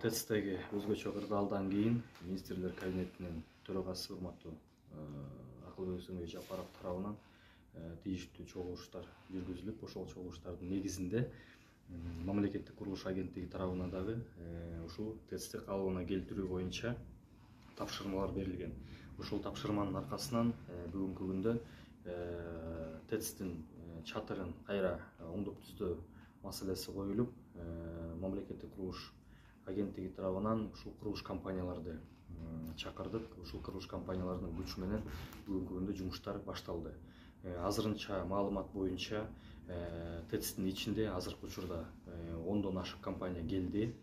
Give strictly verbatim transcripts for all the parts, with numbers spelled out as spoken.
ТЭЦтеги өзгөчө кырдаалдан кийин министрлер кабинетинин төрагасы урматтуу Акылбек Өсөнбек Жапаров тарабынан тийиштүү чогулуштар жүргүзүлүп, ошол чогулуштардын негизинде мамлекеттик курулуш агенттиги тарабынан дагы ушул ТЭЦти калыбына келтирүү боюнча тапшырмалар берилген. Ошол тапшырманын аркасынан бүгүнкү күндө ТЭЦтин чатырын кайра оңдоп түздөө маселеси коюлуп, мамлекеттик курулуш агенттиги тарабынан ушул курулуш компанияларды чакырдык. Ушул курулуш компаниялардын күчү менен бүгүнкү күндө жумуштар башталды. Азырынча маалымат боюнча ТЭЦтин ичинде азыркы учурда ондон ашык компания келди.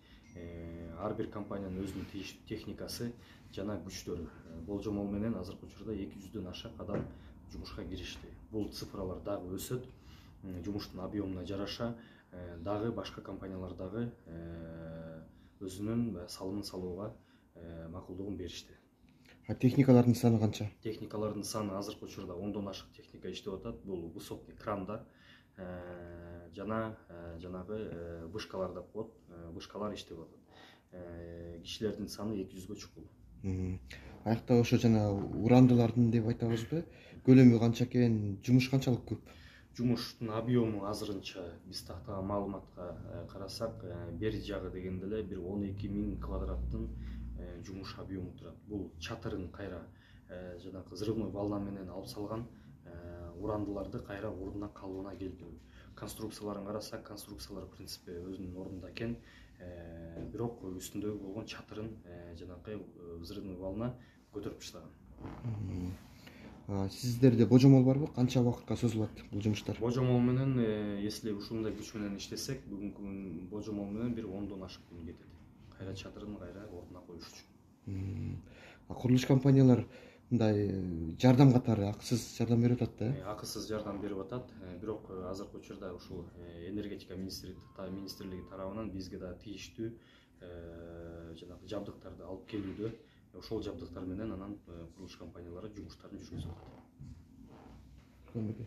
Ар бир компаниянын өзүнүн тийиштүү техникасы жана күчтөрү. Болжомол менен азыркы учурда эки жүздөн ашык адам жумушка киришти. Бул цифралар дагы өсөт. Жумуштун объемуна жараша дагы башка компаниялар дагы өзүнүн салымын салууга макулдугун беришти. А техникалардын саны канча? Техникалардын саны азыркы учурда ондон ашык техника иштеп атат. Бул высотный крандар жана жанагы вышкалар деп коет. Вышкалар иштеп атат. Кишилердин саны эки жүзгө чукул. Аякта ошо жана урандылардын деп айтабызбы? Көлөмү канча экен, жумуш канчалык көп? Жумуштун объему азырынча биз тактаган маалыматка карасак, бери жагы дегенде эле бир он эки миң квадраттын жумуш объему турат. Бул чатырын кайра жанагы взрывной волна менен алып салган урандыларды кайра ордуна калыбына келтирүү. Конструкцияларын карасак, конструкциялар в принципе өзүнүн ордунда экен, бирок үстүндөгү болгон чатырын жанагы взрывной волна көтөрүп таштаган. Сиздерде божомол барбы? Канча убакытка созулат бул жумуштар? Божомол менен, если ушундай күч менен иштесек, бүгүнкү күн божомол менен бир ондон ашык күн кетет. Кайра чатырын кайра ордуна коюш үчүн. Курулуш компаниялар мындай жардам катары акысыз жардам берип атат да? Акысыз жардам берип атат. Бирок азыркы учурда ушул энергетика министрлиги тарабынан бизге да тийиштүү жанагы жабдыктарды алып келүүдө. Ошол жабдыктар менен анан курулуш компаниялары жумуштарын жүргүзүп атат.